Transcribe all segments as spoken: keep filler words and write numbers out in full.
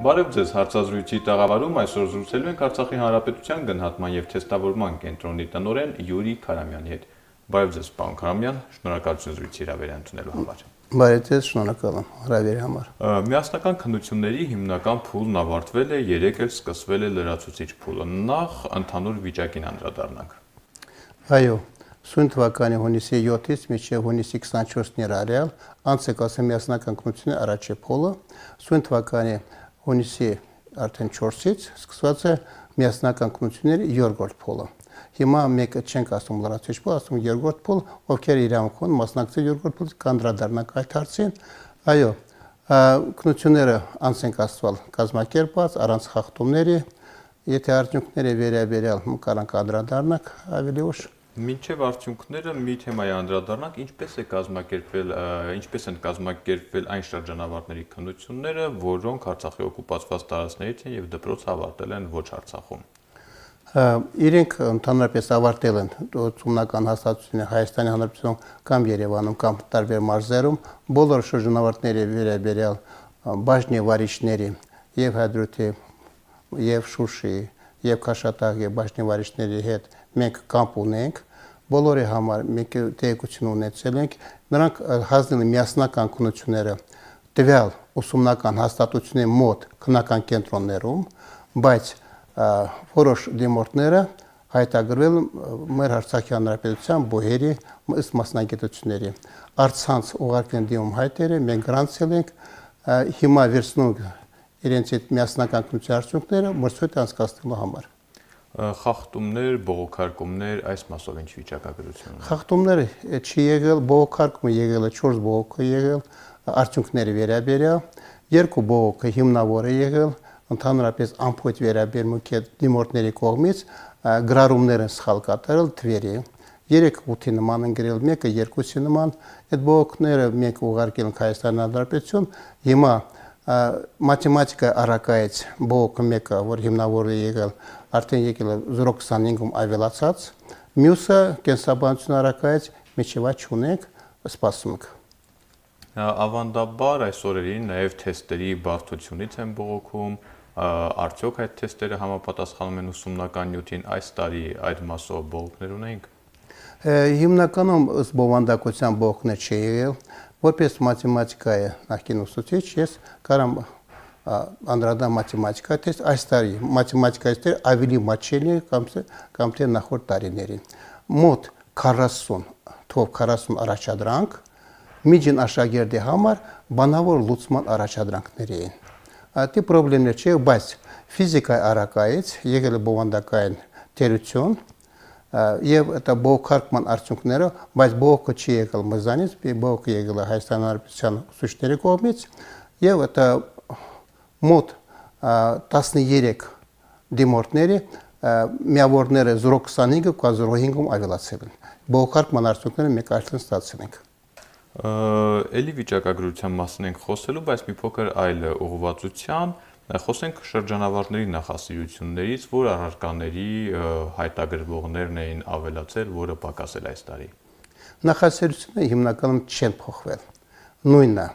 Բարև ձեզ, հարցազրույցի տաղավարում այսօր զրուցելու ենք Արցախի Հանրապետության գնահատման եւ թեստավորման կենտրոնի տնօրեն Յուրի Քարամյանի հետ։ Բարև ձեզ, պարոն Քարամյան, շնորհակալություն զրույցի հրավեր ընդունելու համար։ Բարև ձեզ, շնորհակալ եմ հրավերի համար։ Միասնական քննությունների հիմնական փուլն ավարտվել է, երեկ էլ սկսվել է լրացուցիչ փուլը։ Նախ ընդհանուր վիճակին անդրադառնանք։ Այո, սույն թվականի հունիսի յոթից մինչև հունիսի քսանչորսն իրարյալ անց է կասեմ միասնական քննությունների առաջի փուլը, սույն թվականի հունիսի արդեն չորսից սկսված է միասնական քննությունների երկրորդ փուլը։ Հիմա մեկը չենք ասում լրացուցիչ փուլ, ասում երկրորդ փուլ, ովքեր իրավունք ունեն մասնակցել երկրորդ փուլից կանդրադառնանք այդ հարցին։ Այո, քննությունները անց են կացվել կազմակերպված առանց խախտումների, եթե արդյունքները վերաբերյալ կարանք անդրադառնանք ավելի ուշ։ Մինչև արդյունքները մի թեմայի անդրադառնանք, ինչպես է կազմակերպվել, ինչպես են կազմակերպվել այն շրջանավարտների քննությունները, որոնք Արցախի օկուպացված տարածքներից են եւ դպրոց ավարտել են ոչ Արցախում։ Իրենք ընդհանրապես ավարտել են ուսումնական հաստատությունները Հայաստանի Հանրապետությունում կամ Երևանում կամ տարբեր մարզերում, բոլոր շրջանավարտների վերաբերյալ բաժնի վարիչների եւ Հադրութի եւ Շուշիի եւ Քաշաթաղի բաժնի վարիչների հետ մենք կամպ ունենք, բոլորի համար մենք տեղեկություն ունեցել ենք, նրանք հանձնել են միասնական քննությունները տվյալ ուսումնական հաստատությունների մոտ քննական կենտրոններում, բայց որոշ դիմորդները հայտագրվել մեր Արցախի Հանրապետության բոհերի ըստ մասնագիտությունների։ Արցանց ուղարկել դիմում հայտերը, մենք գրանցել ենք, հիմա վերցնում իրենց այդ միասնական քննության արդյունքները մրցույթ անցկացնելու համար։ Խախտումներ, բողոքարկումներ, այս մասով ինչ վիճակագրություն է։ Խախտումներ չի եղել, բողոքարկումը եղել է չորս բողոք է եղել, արդյունքների վերաբերյալ, երկու բողոքը հիմնավոր է եղել, ընդհանրապես ամփոփ վերաբերմունքի դիմորդների կողմից գրառումներ են սխալ կատարել թվերի, երեք ութի նման են գրել, մեկը երկուսի նման, այդ բողոքները մենք ուղարկել ենք Հայաստանի Հանրապետություն, հիմա մաթեմատիկա առակայից բողոքը մեկը, որ հիմնավոր է եղել, արդեն եկել է զրո քսանհինգում ավելացած, մյուսը կենսաբանություն առակայից միջև այդ չունենք, սպասում ենք։ Ավանդաբար այս օրերին նաև թեստերի բարդությունից են բողոքում, արդյոք այդ թեստերը համապատասխանում են ուսումնական նյութին, այս տարի այդ մասով բողոքներ ունենք։ Հիմնականում ըստ բովանդակության բողոքներ չի եղել, որպես մաթեմատիկայի նախկին ուսուցիչ ես կարամ անդրադառնալ մաթեմատիկայի թեստ, այս տարի մաթեմատիկայի թեստերը ավելի մատչելի կամ թե նախորդ տարիներին։ Մոտ քառասուն թվով քառասուն առաջադրանք միջին աշակերտի համար բանավոր լուծման առաջադրանքներ էին։ Այդ խնդիրներ չէ, բայց ֆիզիկայի առակայից եղել է բովանդակային թերություն եւ այդ բողոքարկման արդյունքները, բայց բողոքը չի եկել մեզանից, բողոքը եկել է Հայաստանի Հանրապետության ուսուցիչների կողմից եւ այդ մոտ տասներեք դիմորդների միավորները զրո քսանհինգը կամ զրո հինգում ավելացել են։ Բողոքարկման արդյունքները մենք արդեն ստացել ենք։ Էլի վիճակագրության մասին ենք խոսելու, բայց մի փոքր այլ ուղղվածության, խոսենք շրջանավարտների նախասիրություններից, որ առարկաների հայտագրվողներն էին ավելացել, որը պակասել այս տարի։ Նախասիրությունները հիմնականում չեն փոխվել։ Նույնն է,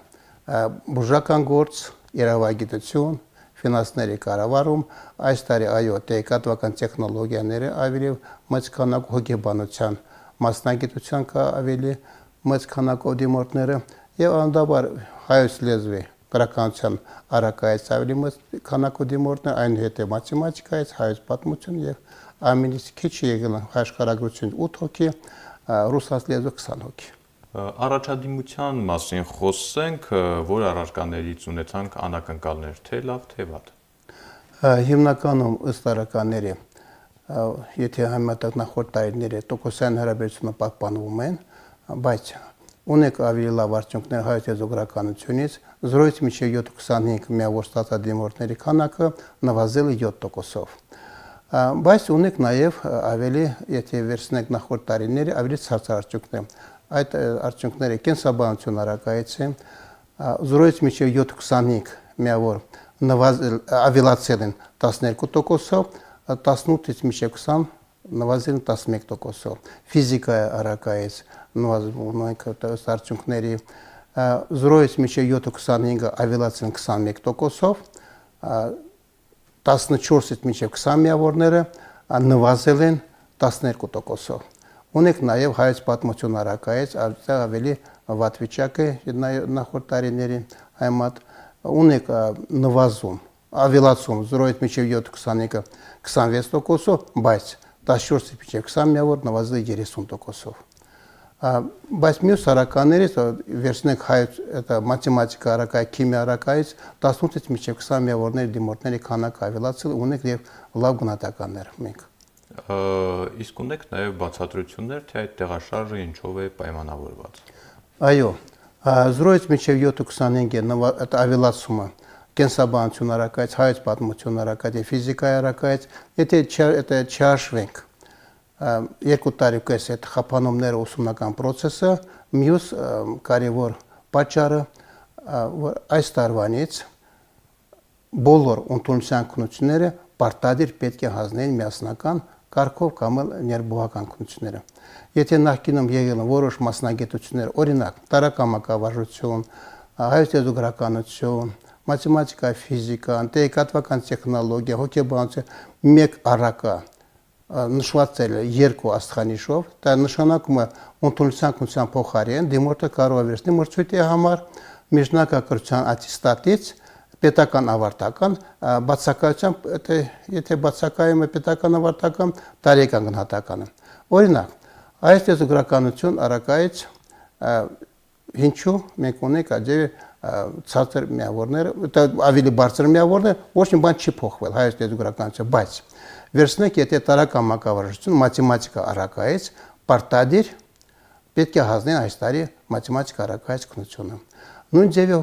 բուժական գործ, իրավագիտություն, ֆինանսների կառավարում, այս տարի այո, տեղեկատվական տեխնոլոգիաները ավելի մեծ քանակով հոգեբանության մասնագիտության կա ավելի մեծ քանակով դիմորդները եւ անդաբար հայոց լեզվի գրականության առակայից ավելի մեծ քանակով դիմորդներ, այնուհետև մաթեմատիկայից, հայոց պատմություն եւ ամենից քիչ եկել աշխարհագրություն ութ հոգի, ռուսաց լեզու քսան հոգի։ Առաջադիմության մասին խոսենք, որ առարկաներից ունեցանք անակնկալներ, թե լավ, թե վատ։ Հիմնականում ըստ առարկաների, եթե համեմատենք նախորդ տարիների, տոկոսային հարաբերությունը պահպանվում են, բայց ունենք ավելի լավ արդյունքներ հայոց լեզու գրականությունից, զրոյից մինչև յոթ քսանհինգ միավոր ստացած դիմորդների քանակը նվազել է յոթ տոկոսով։ Բայց ունենք նաև ավելի, եթե վերցնենք նախորդ տարիների, ավելի ցածր արդյունքներ։ Այդ արդյունքները կենսաբանություն առակայից են, զրոյից մինչև յոթ քսանհինգ միավոր նվազել ավելացել են տասներկու տոկոսով, տասնութից մինչև քսան նվազել տասնմեկ տոկոսով, ֆիզիկայի առակայից նվազում արդյունքների զրոյից մինչև յոթ քսանհինգը ավելացել քսանմեկ տոկոսով, տասնչորսից մինչև քսան միավորները նվազել են տասներկու տոկոսով։ Ունենք նաև հայոց պատմություն առակայից ավելի վատ վիճակ է նախորդ տարիների համեմատ, ունենք նվազում, ավելացում զրոյից մինչև յոթ քսանինը քսանվեց տոկոսով, բայց տասնչորսից մինչև քսան միավոր նվազել է երեսուն տոկոսով։ Բայց մյուս առականերից վերցնենք հայոց մաթեմատիկա առակայի, քիմիա առակայից տասնութից մինչև քսան միավորների դիմորդների քանակը ավելացել ունենք եւ լավ գնահատականներ մենք։ Իսկ ունեք նաև բացատրություններ, թե այդ տեղաշարժը ինչով է պայմանավորված։ Այո, զրոյից մինչև յոթ քսանինը ավելացումը կենսաբանություն առակայից, հայոց պատմություն առակայից, ֆիզիկայի առակայից, եթե չհաշվենք երկու տարի կես այդ խափանումները ուսումնական process-ը, մյուս կարևոր պատճառը, որ այս տարվանից բոլոր ընդունության քննությունները պարտադիր պետք է հանձնեն միասնական կարգով կամ ներբուհական քննությունները։ Եթե նախկինում եղել են որոշ մասնագիտություններ, օրինակ տարակամակավարժություն, հայոց լեզուգրականություն, մաթեմատիկա, ֆիզիկա, տեղեկատվական տեխնոլոգիա, հոգեբանություն, մեկ առակա նշված է երկու աստղանիշով, դա նշանակում է ընդունության քննության փոխարեն դիմորդը կարող է վերցնել մրցույթի համար միջնակարգության ատեստատից պետական ավարտական բացակայությամբ, եթե բացակայում է պետական ավարտական, տարեկան գնահատականը։ Օրինակ, այս լեզուգրականություն առակայից ինչու մենք ունենք այդպես ցածր միավորներ, ավելի բարձր միավորներ, ոչ մի բան չի փոխվել հայոց լեզուգրականություն, բայց վերցնենք, եթե տարակամակավարժություն մաթեմատիկա առակայից պարտադիր պետք է հանձնեն այս տարի մաթեմատիկա առակայից քննությունը։ Նույն ձևի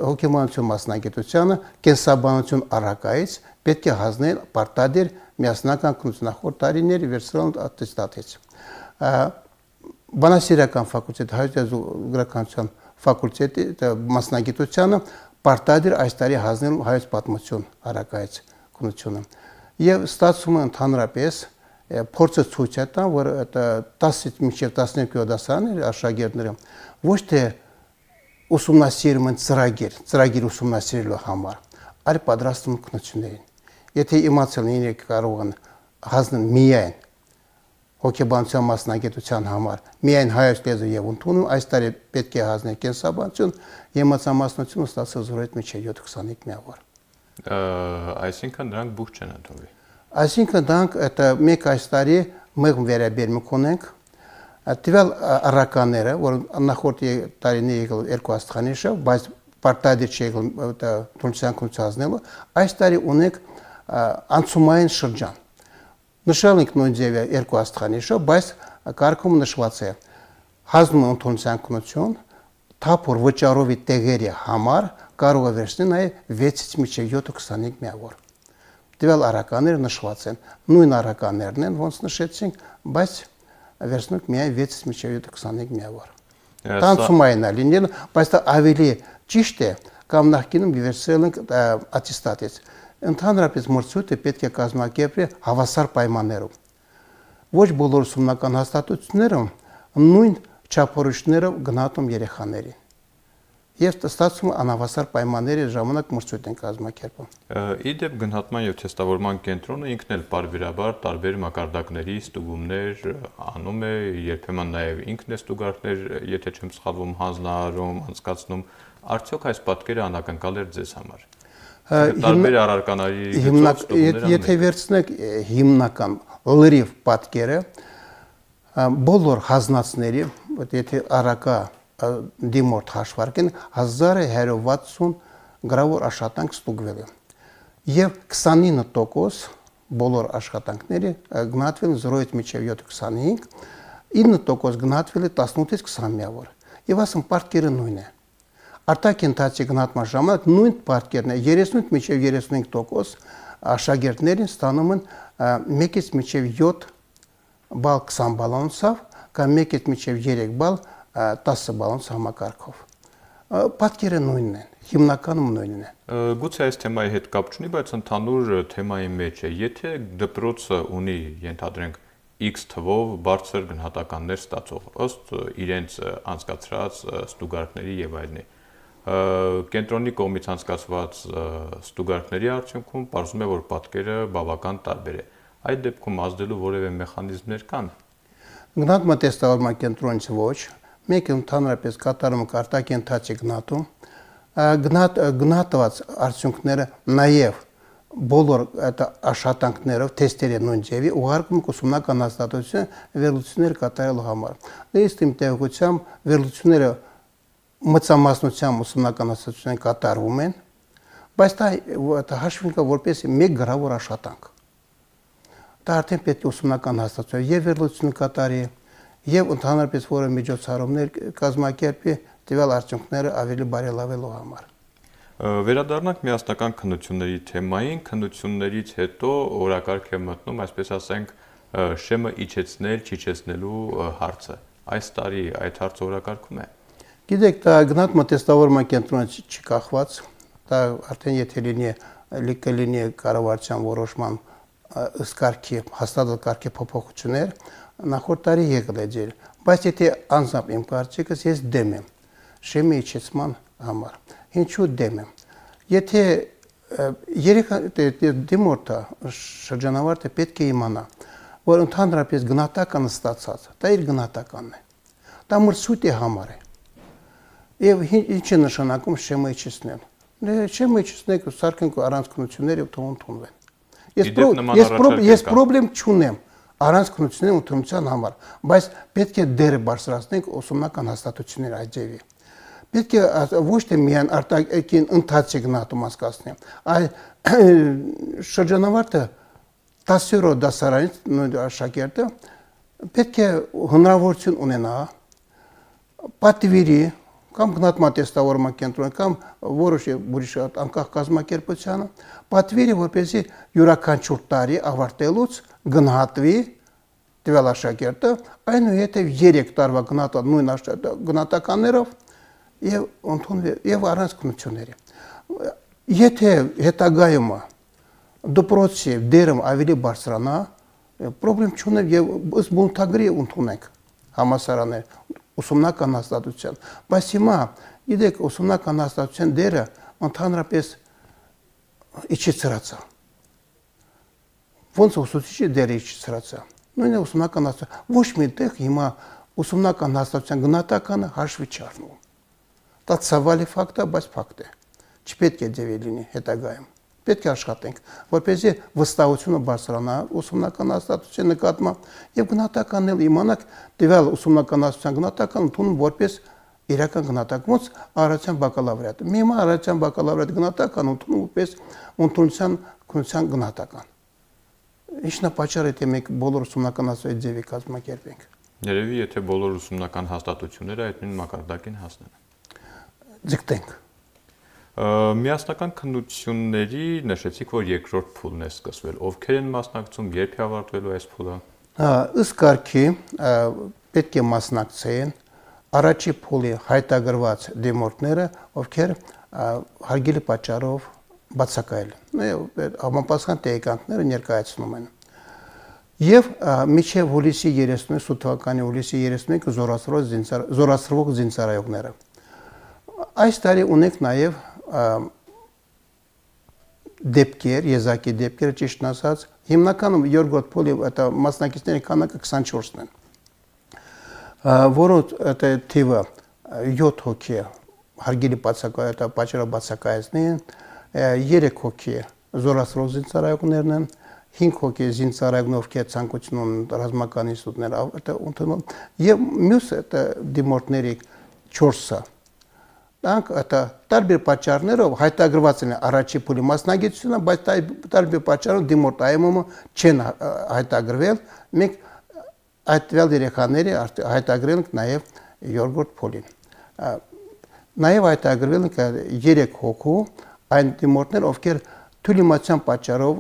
հոգեբանություն մասնագիտությանը կենսաբանություն առակայից պետք է հանձնել պարտադիր միասնական քննություն նախորդ տարիների վերցրել ատեստատից։ Բանասիրական ֆակուլտետի, հայոց լեզուգրականության ֆակուլտետի մասնագիտությանը պարտադիր այս տարի հանձնել հայոց պատմություն առակայից քննությունը։ Եվ ստացվում է ընդհանրապես փորձը ցույց է տան, որ տասից մինչև տասներկու դասարանների աշակերտները ոչ թե ուսումնասիրում են ծրագիր, ծրագիր ուսումնասիրելու համար, այլ պատրաստում քննություններին։ Եթե իմացել են իրենք կարող են հանձնել միայն հոգեբանության մասնագիտության համար, միայն հայոց լեզու եւ ընդունում, այս տարի պետք է հանձնել կենսաբանություն, եւ մաթեմատիկություն ստացել զրոյից մինչև յոթ քսանինը միավոր։ Այսինքն դրանք բուխ չեն ընդունվի։ Այսինքն դրանք մենք այս տարի մեղմ վերաբերմունք ունենք տվյալ առականները, որ նախորդ տարիների եկել երկու աստղանիշով, բայց պարտադիր չի եկել ընդունության քննությունը, այս տարի ունենք անցումային շրջան։ Նշել ենք նույն ձևի երկու աստղանիշով, բայց կարգում նշված է հանձնում ընդունության քննություն, թափոր վճարովի տեղերի համար կարող է վերցնել նաև վեցից մինչև յոթ քսանինը միավոր։ Տվյալ առականները նշված են, նույն առականներն են, ոնց նշեցինք, բայց վերցնենք միայն վեցից մինչև յոթ քսանինը միավոր։ Տանցումային է լինել, բայց դա ավելի ճիշտ է, կամ նախկինում վերցրել ենք ատեստատից։ Ընդհանրապես մրցույթը պետք է կազմակերպել հավասար պայմաններով։ Ոչ բոլոր ուսումնական հաստատություններում նույն չափորոշիչներով գնահատում երեխաներին։ Եվ ստացվում է անհավասար պայմանների ժամանակ մրցույթ են կազմակերպում։ Իդեպ գնահատման եւ թեստավորման կենտրոնը ինքն էլ պարբերաբար տարբեր մակարդակների ստուգումներ անում է, երբեմն նաեւ ինքն է ստուգարքներ, եթե չեմ սխալվում, հանձնարարում, անցկացնում, արդյոք այս պատկերը անակնկալ էր ձեզ համար։ Տարբեր առարկաների գծով ստուգումներ։ Եթե վերցնեք հիմնական լրիվ պատկերը, բոլոր հանձնածների, եթե առակա դիմորդ հաշվարկեն հազար հարյուր վաթսուն գրավոր աշխատանք ստուգվել է։ Եվ քսանինը տոկոս բոլոր աշխատանքների գնահատվել զրոյից մինչև յոթ քսանինը, ինը տոկոս գնահատվել է տասնութից քսան միավոր։ Եվ ասում պատկերը նույնն է։ Արտաքին ընթացքի գնահատման ժամանակ նույն պատկերն է, երեսունից մինչև երեսունհինգ տոկոս աշակերտներին ստանում են մեկից մինչև յոթ բալ քսան բալանսով կամ մեկից մինչև երեք բալ տասը բալանս համակարգով։ Պատկերը նույնն են, հիմնականում նույնն են։ Գուցե այս թեմայի հետ կապ չունի, բայց ընդհանուր թեմայի մեջ է։ Եթե դպրոցը ունի, ենթադրենք, X թվով բարձր գնահատականներ ստացող ըստ իրենց անցկացրած ստուգարքների եւ այլնի, Կենտրոնի կողմից անցկացված ստուգարկների արդյունքում պարզվում է, որ պատկերը բավական տարբեր է։ Այդ դեպքում ազդելու որևէ մեխանիզմներ կան։ Գնահատման տեստավորման կենտրոնից ոչ, մեկ ընդհանրապես կատարում արտակենթացի գնահատում, գնահատված արդյունքները նաև բոլոր աշխատանքներով թեստերի նույն ձևի ուղարկում ուսումնական հաստատություն վերլուծություններ կատարելու համար։ Ըստ իմ տեղեկությամբ վերլուծությունները մծամասնությամբ ուսումնական հաստատություններ կատարվում են, բայց դա հաշվին կա որպես մեկ գրավոր աշխատանք։ Դա արդեն պետք է ուսումնական հաստատություն եւ վերլուծություն կատարի եւ ընդհանրապես որը միջոցառումներ կազմակերպի տվյալ արդյունքները ավելի բարելավելու համար։ Վերադառնանք միասնական քննությունների թեմային, քննություններից հետո օրակարգ է մտնում, այսպես ասենք, շեմը իջեցնել, չիջեցնելու հարցը։ Այս տարի այդ հարցը օրակարգում է։ Գիտեք, դա գնահատման տեստավորման կենտրոնից չի կախված, դա արդեն եթե լինի կլինի կառավարության որոշման ըստ կարգի հաստատած կարգի փոփոխություններ, նախորդ տարի եկել է ձեր, բայց եթե անձամբ իմ կարծիքս ես դեմ եմ շեմի իջեցման համար։ Ինչու դեմ եմ։ Եթե երեք դիմորդը շրջանավարտը պետք է իմանա, որ ընդհանրապես գնահատականը ստացած, դա իր գնահատականն է։ Դա մրցույթի համար է։ Եվ ինչ է նշանակում շեմը իջեցնել։ Շեմը իջեցնեք, սարքենք առանցքություններ եւ թող ընդունվեն։ Ես պրոբլեմ չունեմ առանց քննությունների ընդունության համար, բայց պետք է դերը բարձրացնենք ուսումնական հաստատությունների այդ ձևի։ Պետք է ոչ թե միայն արտաքին ընթացի գնահատում անցկացնի, այլ շրջանավարտը տասնյոթ դասարանից նույն աշակերտը պետք է հնարավորություն ունենա պատվիրի կամ գնահատման տեստավորման կենտրոն կամ որոշ ուրիշ անկախ կազմակերպությանը պատվիրի, որպեսզի յուրաքանչյուր տարի ավարտելուց գնահատվի տվյալ աշակերտը, այնուհետև երեք տարվա գնահատած նույն գնահատականներով եւ ընդունվի եւ առանց քննությունների։ Եթե հետագայում դպրոցի դերում ավելի բարձրանա, պրոբլեմ չունեմ եւ ըստ բնութագրի ընդունենք համասարաններ ուսումնական հաստատության, բայց հիմա գիտեք ուսումնական հաստատության դերը ընդհանրապես իջեցրած է։ Ոնց ուսուցիչի դերը իջեցրած է։ Նույնը ուսումնական հաստատության ոչ մի տեղ հիմա ուսումնական հաստատության գնահատականը հաշվի չառնում։ Դա ցավալի ֆակտ է, բայց ֆակտ է։ Չպետք է ձևի լինի հետագայում։ Պետք է աշխատենք, որպեսզի վստահությունը բարձրանա ուսումնական հաստատության նկատմամբ եւ գնահատականն էլ իմանանք տվյալ ուսումնական հաստատության գնահատական ընդունում որպես իրական գնահատական, ոնց առողջության բակալավրիատ։ Մի հիմա առողջության բակալավրիատ գնահատական ընդունում որպես ընդունության քննության գնահատական։ Ինչն է պատճառը, թե մենք բոլոր ուսումնական հաստատությունների ձևի կազմակերպենք։ Երևի եթե բոլոր ուսումնական հաստատությունները այդ նույն մակարդակին հասնեն։ Ձգտենք։ Միասնական քննությունների նշեցիք, որ երկրորդ փուլն է սկսվել։ Ովքեր են մասնակցում, երբ է ավարտվելու այս փուլը։ Ըստ կարգի պետք է մասնակցեն առաջի փուլի հայտագրված դիմորդները, ովքեր հարգելի պատճառով բացակայել են, համապատասխան տեղեկանքները ներկայացնում են։ Եվ մինչև հուլիսի երեսունինը թվականի հուլիսի երեսունինը զորացրվող զինծառայողները։ Այս տարի ունենք նաև դեպքեր, եզակի դեպքեր, ճիշտ ասած, հիմնականում երկրորդ փուլի մասնակիցների քանակը քսանչորսն են, որոնց թիվը յոթ հոգի հարգելի պատճառով բացակայեցնին, երեք հոգի զորացրող զինծառայողներն են, հինգ հոգի զինծառայողներ, ովքեր ցանկություն ունեն ռազմական ինստիտուտներ ընդունել, եւ մյուս դիմորդների չորսը Դրանք տարբեր պատճառներով հայտագրված են առաջի փուլի մասնագիտությունը, բայց տարբեր պատճառով դիմորդ այմումը չեն հայտագրվել, մենք այդ տվյալ երեխաների հայտագրել ենք նաև երկրորդ փուլին։ Նաև հայտագրվել ենք երեք հոգու այն դիմորդներ, ովքեր թույլտվության պատճառով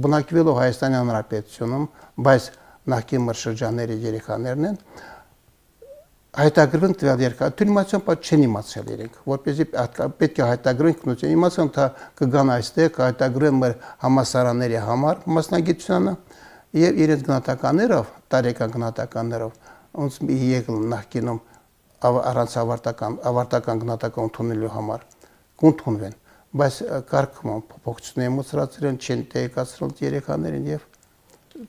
բնակվելով Հայաստանի Հանրապետությունում, բայց նախկին մրշրջանների երեխաներն են, հայտագրվենք տվյալ երկար, թույլտվության պատճառով չեն իմացել իրենք, որպեսզի պետք է հայտագրենք քննություն, իմացան թե կգան այստեղ, կհայտագրեն մեր համասարանների համար մասնագիտությանը եւ իրենց գնահատականներով, տարեկան գնահատականներով, ոնց եկել նախկինում առանց ավարտական ավարտական գնահատական ընդունելու համար կընդունվեն, բայց կարգում փոփոխությունների մոծրացրել չեն տեղեկացրել երեխաներին եւ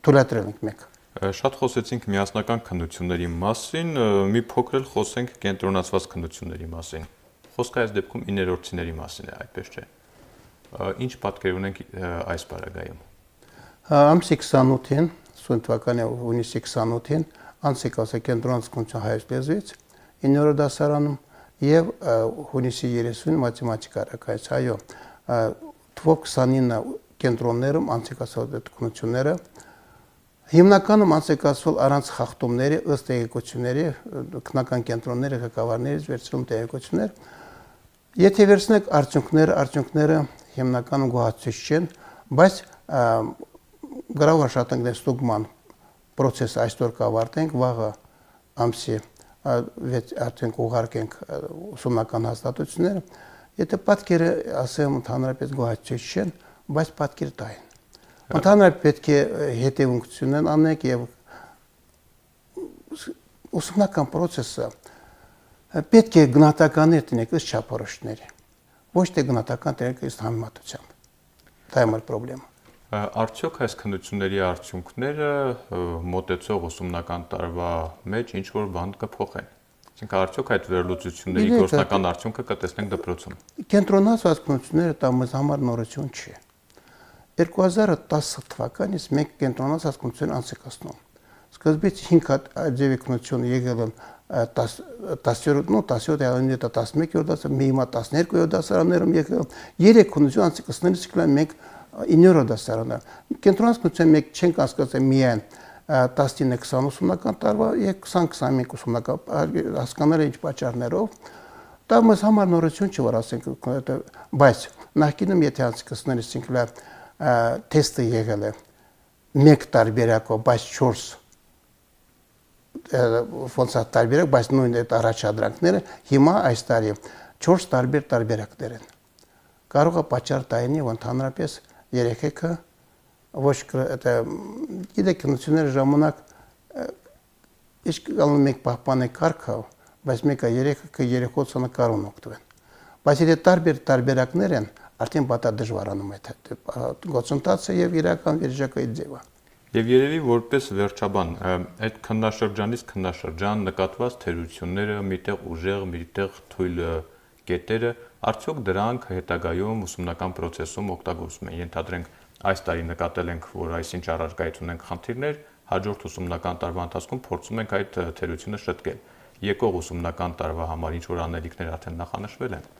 թույլատրել ենք մենք։ Շատ խոսեցինք միասնական քննությունների մասին, մի փոքր էլ խոսենք կենտրոնացված քննությունների մասին։ Խոսքը այս դեպքում իներորցիների մասին է, այդպես չէ։ Ինչ պատկեր ունենք այս պարագայում։ Ամսի քսանութին, ուսուն թվականի հունիսի քսանութին անցիկ ասա կենտրոնացված քննություն հայոց լեզվից իններորդ դասարանում եւ հունիսի երեսունին մաթեմատիկա ռակայց, այո, թվով քսանինը կենտրոններում անցիկ ասա քննությունները հիմնականում անցկացվել առանց խախտումների ըստ տեղեկությունների քննական կենտրոնների ղեկավարներից վերցրում տեղեկություններ։ Եթե վերցնեք արդյունքները, արդյունքները հիմնականում գոհացուցիչ չեն, բայց գրավոր աշխատանքների ստուգման process այսօր կավարտենք, վաղը ամսի արդեն կուղարկենք ուսումնական հաստատությունները, եթե պատկերը ասեմ ընդհանրապես գոհացուցիչ չեն, բայց պատկեր տային։ Ընդհանրապես պետք է հետևունքություն անենք եւ ուսումնական process-ը պետք է գնահատականներ տնենք ըստ չափորոշիչների, ոչ թե գնահատական տնենք ըստ համեմատությամբ։ Դա է մեր խնդրեմը։ Արդյոք այս քննությունների արդյունքները մոտեցող ուսումնական տարվա մեջ ինչ որ բան կփոխեն։ Այսինքն արդյոք այդ վերլուծությունների գործնական արդյունքը կտեսնենք դպրոցում։ Կենտրոնացված քննությունները դա մեզ համար նորություն չի։ երկու հազար տասը թվականից մենք կենտրոնացած քննություն անցկացնում։ Սկզբից հինգ հատ ձևի քննություն եղել են տասներորդ, նո տասյոթ, տասնմեկերորդ դասարանում, մի հիմա տասներկուերորդ դասարաններում եղել, երեք քննություն անցկացնելիս կլան մենք իններորդ դասարանը։ Կենտրոնացած քննություն մենք չենք անցկացել միայն տասնինը քսան ուսումնական տարվա եւ քսան քսանմեկ ուսումնական հասկանալի ինչ պատճառներով դա մեզ համար նորություն չի, որ ասենք, բայց նախկինում եթե անցկացնելիս ինքնա թեստը եղել է մեկ տարբերակով, բայց չորս ոնց է տարբերակ, բայց նույն այդ առաջադրանքները հիմա այս տարի չորս տարբեր տարբերակներ են։ Կարող է պատճառ տայնի, որ ընդհանրապես երեխեքը ոչ գիտեք քննությունների ժամանակ իսկ անում մենք պահպանենք կարգը, բայց մեկը երեխեքը երեխոցը կարող օգտվեն։ Բայց եթե տարբեր տարբերակներ են, արդեն բատա դժվարանում է գործընթացը եւ իրական վիճակի ձևը։ Եվ երևի որպես վերջաբան այդ քննաշրջանից քննաշրջան նկատված թերությունները, միտեղ ուժեղ, միտեղ թույլ կետերը, արդյոք դրանք հետագայում ուսումնական process-ում օգտագործվում են։ Ենթադրենք այս տարի նկատել ենք, որ այսինչ առարկայություն ունենք խնդիրներ, հաջորդ ուսումնական տարվա ընթացքում փորձում ենք այդ թերությունը շտկել։ Եկող ուսումնական տարվա համար ինչ որ անելիքներ արդեն նախանշվել են։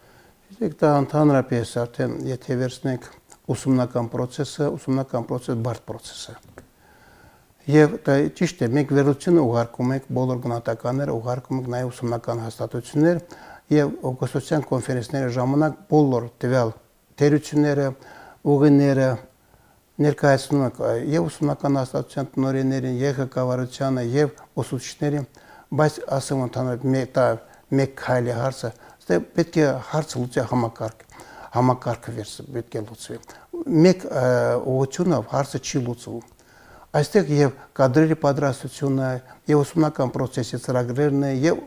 Իսկ դա ընդհանրապես արդեն եթե վերցնենք ուսումնական process-ը, ուսումնական process բարդ process է։ Եվ դա ճիշտ է, մենք վերլուծությունը ուղարկում ենք բոլոր գնահատականները, ուղարկում ենք նաև ուսումնական հաստատություններ եւ օգոստոսյան կոնֆերենսների ժամանակ բոլոր տվյալ թերությունները, ուղիները ներկայացնում ենք եւ ուսումնական հաստատության տնօրեններին, եւ ղեկավարությանը, եւ ուսուցիչներին, բայց ասեմ ընդհանրապես մեկ քայլի հարցը, դա պետք է հարցը լուծի համակարգ, համակարգը վերցը պետք է լուծվի։ Մեկ ուղղությունով հարցը չի լուծվում։ Այստեղ եւ կադրերի պատրաստությունը, եւ ուսումնական process-ի ծրագրերն եւ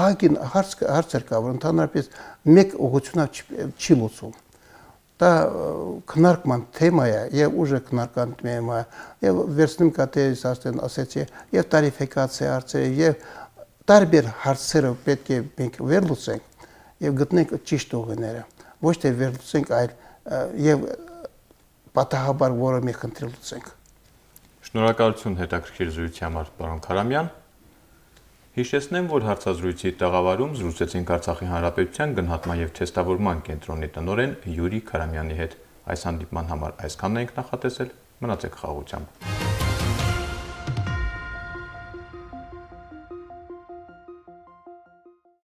ահագին հարցեր կա, որ ընդհանրապես մեկ ուղղությունով չի լուծվում։ Դա քննարկման թեմա է եւ ուժը քննարկման թեմա է եւ վերցնում կատերից արդեն ասեցի եւ տարիֆիկացիա հարցերը եւ տարբեր հարցերը պետք է մենք վերլուծենք եւ գտնենք ճիշտ ուղիները, ոչ թե վերլուծենք, այլ եւ պատահաբար որը մենք խնդրել լուծենք։ Շնորհակալություն հետաքրքիր զրույցի համար, պարոն Քարամյան։ Հիշեցնեմ, որ հարցազրույցի տաղավարում զրուցեցինք Արցախի Հանրապետության գնահատման եւ թեստավորման կենտրոնի տնօրեն Յուրի Քարամյանի հետ։ Այս հանդիպման համար այսքանն ենք նախատեսել։ Մնացեք խաղաղությամբ։